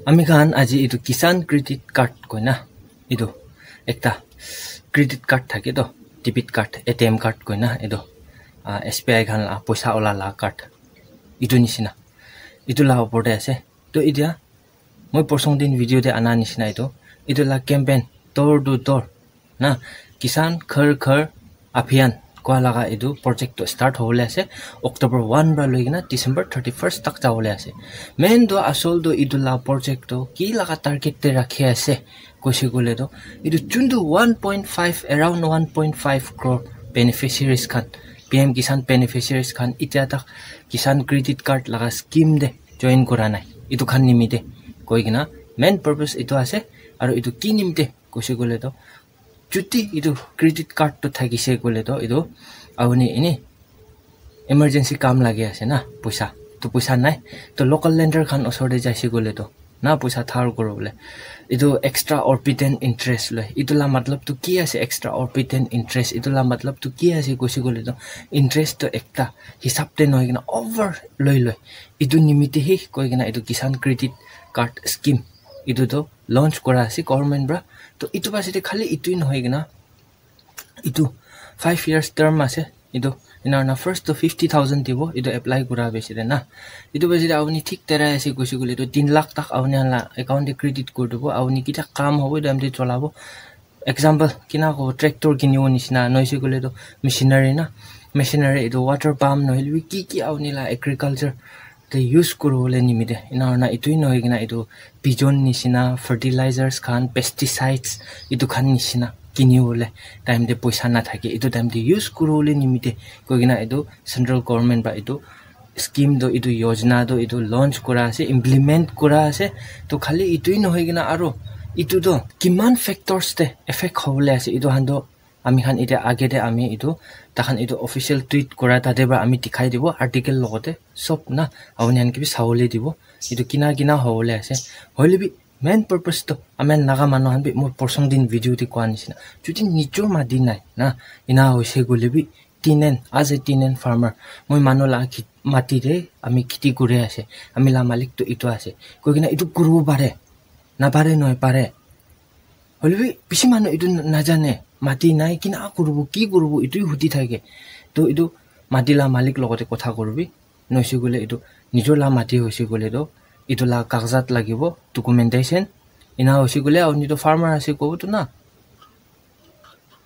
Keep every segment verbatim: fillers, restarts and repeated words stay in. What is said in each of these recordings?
Ami khan aji etu Kisan Credit Card koina, etu ekta credit card thake toh, debit card, A T M card koina, etu, ah, S B I khan la poisa ola la card, etu nishina, etu la opor te ase. To etia moi porson din video te ana nishina etu, etu la campaign door to door na, Kisan Ghar Ghar Abhiyan koa laga etu project to start hobole ase, October one para loi kena December thirty first tak jabole ase. Main to asol to etu la project to ki laga target te rakhi ase koise koile to, etu juntu one point five, around one point five crore beneficiaries khan, P M Kisan beneficiaries khan etia tak Kisan Credit Card laga scheme te join kura nai, etu khan nimite koi kena main purpose etu ase. Aru etu ki nimite koise koile to, chuti etu credit card to thakise koile to, etu apuni ene emergency kam lage ase na, poisa to, poisa nai to, local lender khan osor te jaise koile to na, poisa dhar kuro bole, etu extra orbitant interest loi. Etu la matlab to ki ase, extra orbitant interest? Etu la matlab to ki ase koise koile to, interest to ekta hisab te nohoi kena over loi loi. Etu nimite he koi kena etu Kisan Credit Card Scheme etu to launch kura ase government para. To etu base te khali etu nohoi kena, etu five years term ase. Etu ena na, first to fifty thousand dibo, etu apply kura base te na. Etu base te apuni thik terai ase koise koile to, tin lakh tak apuni khan la account te credit kuri dibo. Apuni kitia kam hobo etu time te cholabo. Example, kina kobo, tractor kinibo nishina, noise koile to machinery na, machinery etu water pump nohole bi ki ki apuni la agriculture te use kuribole nimite, ena hoina etu hi nohoi kena etu bijon nishina, fertilizers khan, pesticides, etu khan nishina kinibole time te poisa nathake, etu time te use kuribole nimite koi kena etu central government para etu scheme to, etu yojana to etu launch kura ase, implement kura ase. To khali etu hi nohoi kena aro etu to kiman factors te effect hobole ase, etu khan to ami khan etia age te ami etu, takhan etu official tweet kura tate para ami dikhai dibo, article logote sob na, apuni khan ke bi sabole dibo etu kina kina hobole ase. Hoile bi main purpose to ami khan Naga manu khan bi, moi porson din video te koa nishina, jodi nijor mati nai na, ena hoise koile bi, tinen, as a tinen farmer, moi manu la khit-, mati te ami kheti kuri ase, ami la malik to etu ase koi kena etu kuribo pare, napare nohoi, pare. Hoile bi bishi manu etu na-, najane, mati nai, kina kuribo, ki kuribo, etu hi hudi thake. To etu mati la malik logote kotha kuribi, noise koile etu nijor la mati hoise koile to etu la kagzat lagibo, documentation. Ena hoise koile apuni to farmer ase kobo to na.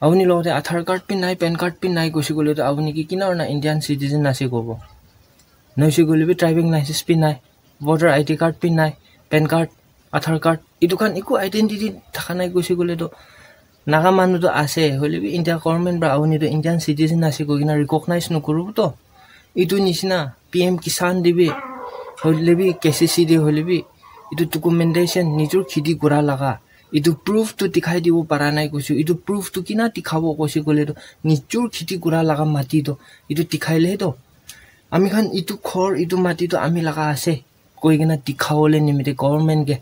Apuni logote Aadhaar card bi nai, PAN card bi nai koise koile to apuni ki kina hoina Indian citizen ase kobo? Noise koile bi driving license bi nai, voter I D card bi nai, PAN card, Aadhaar card, etu khan eku identity thaka nai koise koile to, Naga manu to ase, hoile bi India government para apuni to Indian citizen ase koi kena recognize nokuribo to. Etu nishina P M Kisan te bi, hoile bi K C C te hoile bi, etu documentation, nijor kheti kura laga, etu proof to dikhai dibo para nai koise. Etu proof to kina dikhabo koise koile to, nijor kheti kura laga mati to, etu dikhai le to, ami khan etu ghor, etu mati to ami laga ase koi kena dikhabole nimite government ke,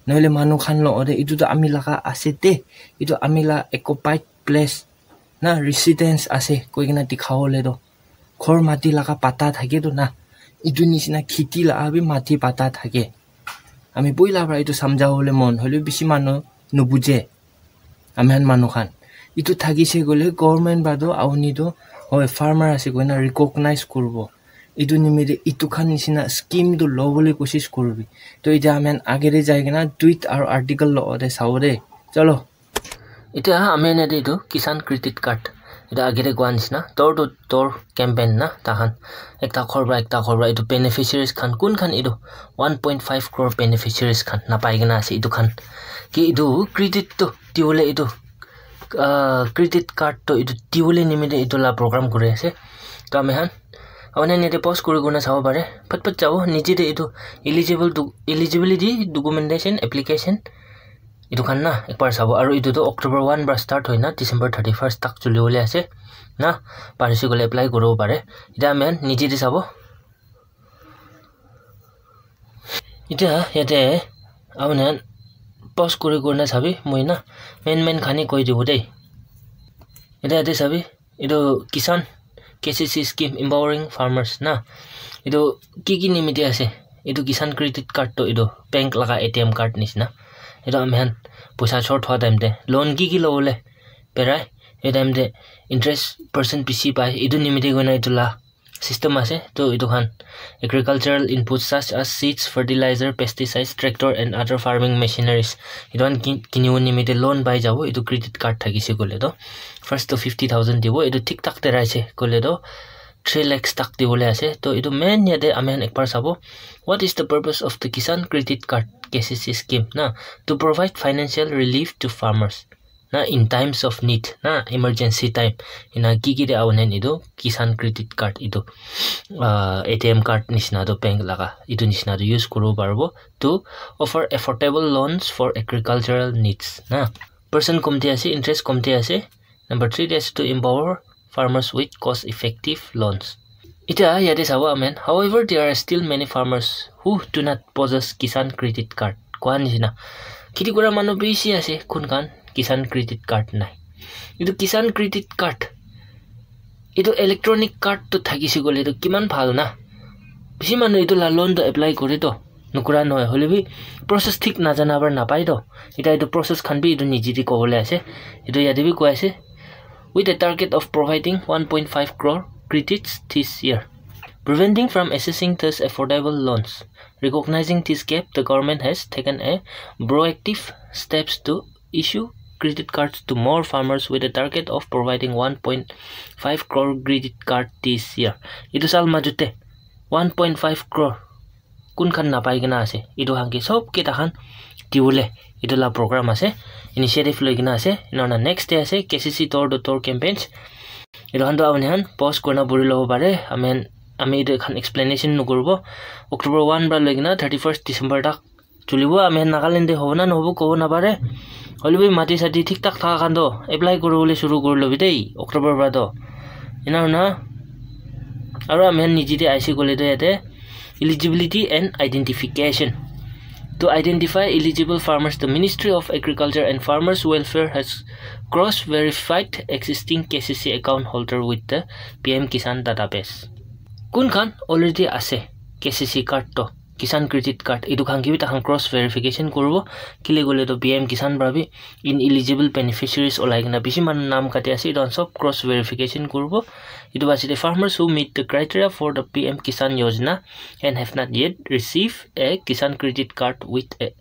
nohole manu khan logote, etu to ami laga ase te, etu ami la occupied place na, residence ase koi kena dikhabole to, ghor mati laga patta thake to na, etu nishina kheti laga bi mati patta thake. Ami poila para etu samjhabole mon hoile bishi manu nubuje. Ami khan manu khan etu thakise koile government para to apuni to hoi farmer ase koina recognize kuribo. Etu nimite etu khan nishina scheme to lobole koshish kuribi. To etia ami khan age te jai kena tweet aru article logote sabo de. Chalo. Etia ami khan yate etu Kisan Credit Card, etia age te koa nishina door to door campaign na, takhan ekta ghor para ekta ghor para etu beneficiaries khan, kun khan etu one point five crore beneficiaries khan napai kena ase, etu khan ki etu credit to dibole, etu, ah, credit card to etu dibole nimite etu la program kuri ase. To ami khan apuni khan yate pause kuri kena sabo pare, phat phat jabo, niche te etu eligible to, eligibility documentation application, etu khan na ekbar sabo. Aru etu to October one para start hoi na December thirty first tak chuli bole ase na, parise koile apply kuribo pare. Etia ami khan niche te sabo. Etia yate apuni khan pause kuri kena sabi, moi na main main khan he koi dibo de. Etia yate sabi, etu Kisan K C C scheme empowering farmers na, etu ki ki nimite ase, Etu Kisan Credit Card toh etu bank laga A T M card nishina. Etu ami khan poisa short hua time te loan ki ki lobole berai, etu time te interest percent bishi pai. Etu nimite koina etu la system ase. To etu khan agricultural inputs such as seeds, fertilizer, pesticides, tractor and other farming machineries, etu khan ki- kinibo nimite loan pai jabo. Etu credit card thakise koile to first to fifty thousand dibo. Etu thik thak te raise koile to three lakhs tak dibole ase. To etu main yate ami khan ekbar sabo, what is the purpose of the Kisan Credit Card, K C C scheme na? To provide financial relief to farmers na, in times of need na, emergency time, ena ki ki te awo nen etu Kisan Credit Card etu, ah, A T M card nishina to bank laga etu nishina to use kuribo paribo to offer affordable loans for agricultural needs na. Percent komti ase, interest komti ase. Number three te ase to empower farmers with cost effective loans. Etiya yate sabo amen. However, there are still many farmers who do not possess Kisan Credit Card. Koa nishina, kheti kura manu bishi ase, kun khan Kisan Credit Card nai. Etu Kisan Credit Card, etu electronic card to thakise koile to kiman bhal na. Bishi manu etu la loan to apply kore to, nukura nohoi, hoile bi process thik najana para napai to. Etiya etu process khan bi etu nije te kobole ase. Etu yate bi koi ase, with a target of providing one point five crore credits this year. Preventing from accessing these affordable loans, recognizing this gap, the government has taken a proactive steps to issue credit cards to more farmers with a target of providing one point five crore credit card this year. Etu sal majute one point five crore kun khan napai kena ase, etu khan ke sob ke takhan diwole etu la program ase. Initiative loi kena ase. Ena next day ase K C C door to door campaigns. Etu khan to apni khan pause kurina puri lobo pare. Ami khan, ami etu khan explanation nukuribo. October one para loi kena thirty first December tak chulibo. Ami khan Nagaland te hobo na nohobo kobo napare. Hoile bi mati sati thik thak thaka khan to apply kuribole shuru kuri lobi dei October para to. Ena hoina aro ami khan nije te aise koile to yate eligibility and identification. To identify eligible farmers, the Ministry of Agriculture and Farmers Welfare has cross-verified existing K C C account holder with the P M Kisan database. Kun khan already ase K C C card to, Kisan Credit Card, etu khan ke bi takhan cross verification kuribo. Kile koile to P M Kisan para bi ineligible beneficiaries olai kena bishi manu naam kati ase, etu khan sob cross verification kuribo. Etu wajah te farmers who meet the criteria for the P M Kisan Yojana and have not yet received a Kisan Credit Card with a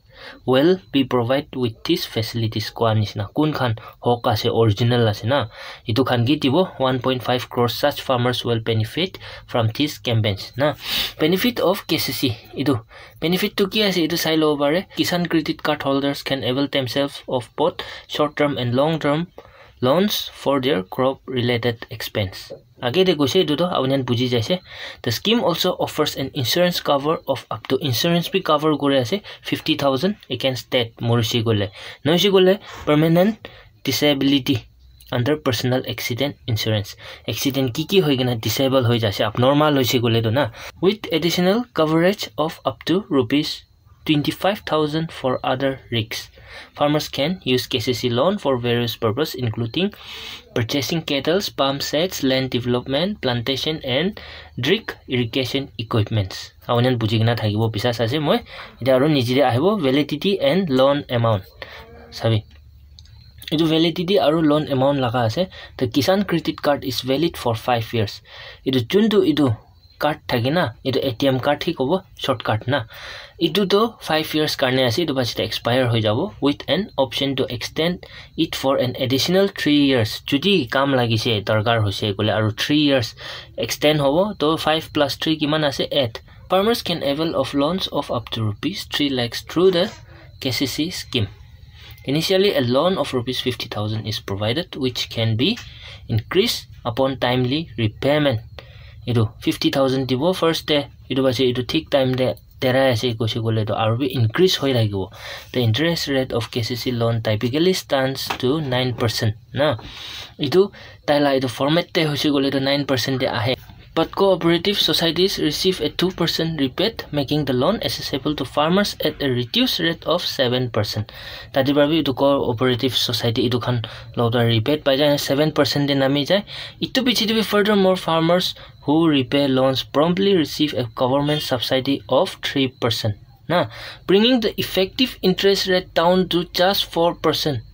will be provided with these facilities koa nishina. Kun khan hok ase, original ase na, etu khan ke dibo. One point five crore such farmers will benefit from these campaigns na. Benefit of K C C, etu benefit tu ki ase, etu sai lobo pare. Kisan Credit Card holders can avail themselves of both short term and long term loans for their crop related expense. Age te koise etu to apni khan buji jaise. The scheme also offers an insurance cover of up to, insurance bi cover kuri ase fifty thousand against death, morisi koile. Nohoise koile permanent disability under personal accident insurance. Accident ki ki hoi kena disable hoi jaise, abnormal hoise koile to na. With additional coverage of up to rupees twenty-five thousand for other risks. Farmers can use K C C loan for various purposes, including purchasing cattle, pump sets, land development, plantation, and drip irrigation equipments. Apni khan buji kena thakibo bisas ase moi. Etiya aro nije te ahibo, validity and loan amount. Sabi. Etu validity aro loan amount laga ase. The Kisan Credit Card is valid for five years. Etu juntu etu card thake na, etu A T M card hi kobo, short card na. Etu to five years karne ase, etu pachete expire hoi jabo, with an option to extend it for an additional three years. Jodi kam lagise, darkar hoise koile aru three years extend hobo, to five plus three kiman ase? Eight. Farmers can avail of loans of up to rupees three lakhs through the K C C scheme. Initially, a loan of rupees fifty thousand is provided, which can be increased upon timely repayment. Etu fifty thousand dibo first te, etu pase etu thik time te derai ase koise koile to aru bi increase hoi thakibo. The interest rate of K C C loan typically stands to nine percent na. Etu tai la etu format te hoise koile to nine percent te ahe. But cooperative societies receive a two percent rebate, making the loan accessible to farmers at a reduced rate of seven percent. Tadi para bi itu cooperative society itu khan lota rebate pai jai, seven percent de nami jai. Itu piche de bi furthermore, farmers who repay loans promptly receive a government subsidy of three percent. Na, bringing the effective interest rate down to just four percent.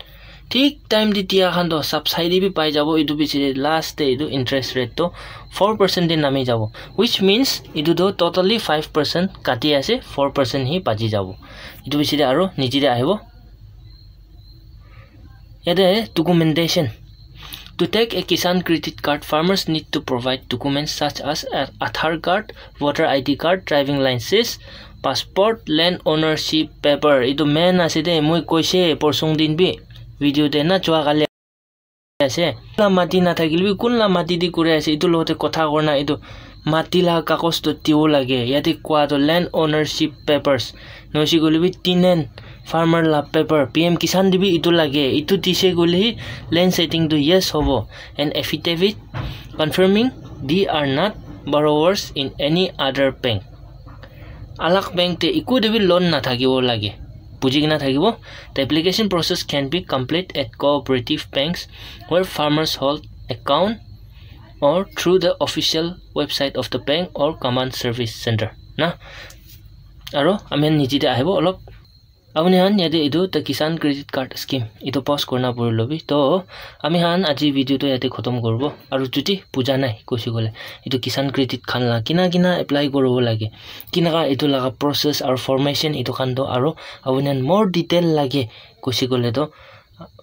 Thik time te dia khan to subsidy bi pai jabo, itu piche te last te itu interest rate to four percent te nami jabo, which means itu to totally five percent kati ase, four percent hi baji jabo. Itu piche te aro niche te ahibo. Yate documentation. To take a Kisan Credit Card, farmers need to provide documents such as a Aadhaar card, voter I D card, driving license, passport, land ownership paper. Itu main ase de, moi koise porsong din bi video de na chua kali ase. La mati na thakile bi kun la mati di kure ase, itu lote kotha korna itu mati la kagos to dibo lage. Yate koa to land ownership papers. Noise koile bi tenant farmer la paper, P M Kisan de bi itu lage. Itu dise koile hi land ceding to yes hobo. An affidavit confirming they are not borrowers in any other bank. Alag bank te iku de bi loan na thakibo lage. Buji kena thakibo. The application process can be complete at cooperative banks where farmers hold account or through the official website of the bank or common service center. Na? Aro ami khan niche te ahibo olop. Apuni khan yate itu the Kisan Credit Card Scheme itu pause korna puri lobi. To ami khan aji video to yate khotom koribo. Aru jodi buja nai koise koile, itu Kisan Credit khan la kina kina apply koribo lage, kinaka itu laga process aru formation itu khan to aru apuni khan more detail lage koise koile to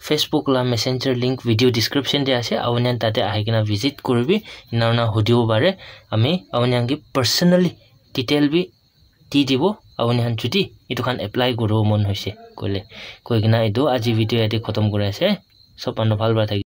Facebook la messenger link video description te ase, apuni khan tate ahi kena visit koribi, ena na hudibo pare, ami apuni khan ke personally detail bi di dibo, apuni khan jodi itu khan apply koribo mon hoise koile. Koi kena itu aji video yate khotom kuri ase. Sob manu bhal para thaki.